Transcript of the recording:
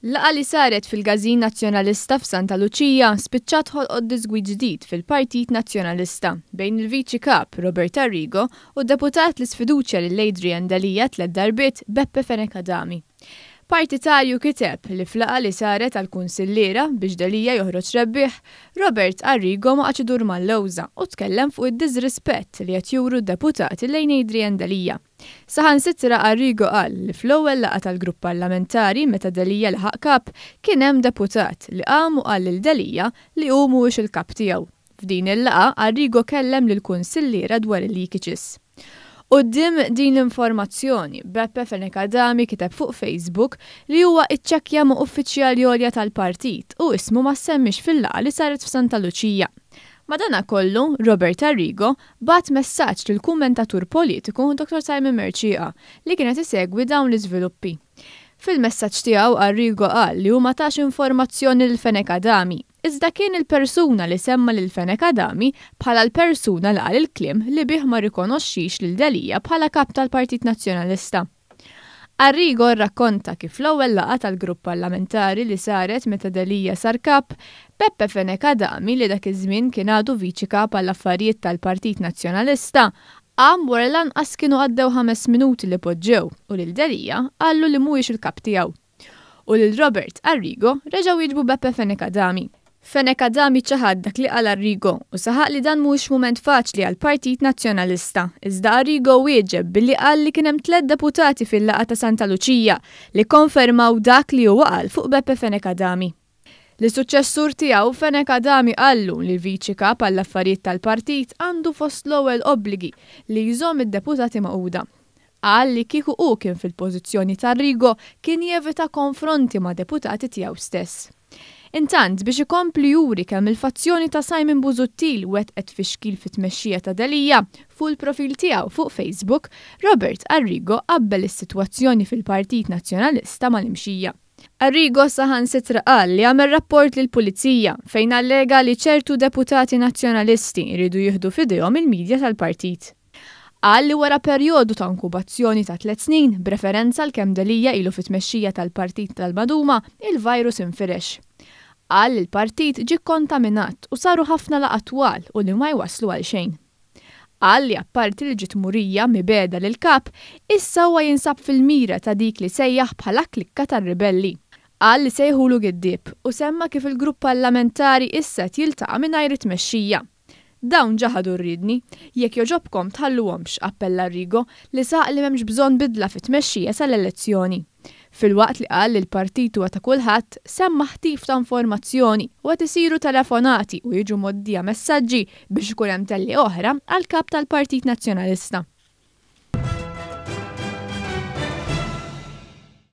Laqgħa li saret fil-Każin Nazzjonalista f'Santa Luċija spiċċat ħolqot diżgwid ġdid fil-Partit Nazzjonalista bejn il-Viċi Kap Robert Arrigo u d-deputat li sfiduċja lil Adrian Delia tlett darbiet Beppe Fenech Adami. Partitarju kiteb li f'laqgħa li saret għall-kunsilliera biex Delia joħroġ rebbieħ, Robert Arrigo ma qagħadx idur mal-lewża u tkellem fuq id-diżrispett li qed juru d-deputati lejn Adrian Delia. Saħansitra Arrigo qal li fl-ewwel laqgħa tal-grupp parlamentari meta Delia laħaq kap kien hemm deputat li qam u qal lil Delia li hu mhuwiex il-kap tiegħu. F'din il-laqgħa Arrigo kellem lill-kunsilliera dwar il-leakages. Quddiem din l-informazzjoni, Beppe Fenech Adami kiteb fuq Facebook li huwa iċċekkja ma' uffiċjali għolja tal-partit u ismu ma ssemmiex fil-laqgħa li saret f'Santa Luċija. Madanakollu, Robert Arrigo bagħat messaġġ lill-kummentatur politiku Dottor Simon Mercieca li kien qed isegwi dawn l-iżviluppi. Fil-messaġġ tiegħu Arrigo qal li hu ma tax informazzjoni lil Fenech Adami, Iżda kien il-persuna li semma lil Fenech Adami bħala l-persuna li qal il-kliem li bih ma rrikonoxxix lil Delia bħala Kap tal-Partit Nazzjonalista. Arrigo rrakkonta kif fl-ewwel laqgħa tal-grupp parlamentari li saret meta Delia sar Kap, Beppe Fenech Adami li dak iż-żmien kien għadu Viċi Kap għall-Affarijiet tal-Partit Nazzjonalista, qam wara li lanqas kienu għaddew ħames minuti li poġġew u lil Delia qallu li mhuwiex il-Kap tiegħu. U lil Robert Arrigo reġa' wieġbu Beppe Fenech Adami. Fenech Adami ċaħad dak li qal Arrigo u saħaq li dan mhuwiex mument faċli għall-Partit Nazzjonalista. Iżda Arrigo wieġeb billi qal li kien hemm tlett deputati fil-laqgħa ta' Santa Luċija li kkonfermaw dak li huwa qal fuq Beppe Fenech Adami. Lis-suċċessur tiegħu, Fenech Adami qallu li l-Viċi Kap għall-Affarijiet tal-Partit għandu fost l-ewwel obbligi li jżomm id-deputati magħquda. Qal li kieku hu kien fil-pożizzjoni ta' Arrigo kien jevita konfronti ma' deputati tiegħu stess. Intant, biex ikompli juri kemm il-fazzjoni ta' Simon Busuttil wettqet tfixkil fit-tmexxija ta' Delia, fuq il-profil tiegħu fuq Facebook, Robert Arrigo qabbel is-sitwazzjoni fil-Partit Nazzjonalista mal-imxija. Arrigo saħansitra qal li għamel rapport lill-Pulizija fejn allega li ċertu deputati Nazzjonalisti jridu jieħdu f'idejhom il-media tal-partit. Qal li wara perjodu ta' inkubazzjoni ta' tlett snin, b'referenza għal kemm Delia ilu fit-tmexxija tal-partit tal-maduma, il-virus infirex. Qal li l-partit ġie kkontaminat u saru ħafna laqgħat twal u li ma jwasslu għal xejn. Qal li apparti li ġiet murija mibegħda lill-Kap, issa huwa jinsab fil-mira ta' dik li sejjaħ bħala klikka tar-ribelli. Qal li sejħulu giddieb u semma kif il-grupp parlamentari issa qed jiltaqa' mingħajr it-tmexxija. Dawn ġaħadu r-riedni. Jekk jogħġobkom tħalluhomx, appella Arrigo, li saħaq li m'hemmx bżonn bidla fit-tmexxija sal-elezzjoni. Filwaqt li qal li l-partit huwa ta' kulħadd, semma ħtif ta' informazzjoni u qed isiru telefonati u jiġu mgħoddija messaġġi biex ikun hemm tellieqa oħra għall-Kap tal-Partit Nazzjonalista.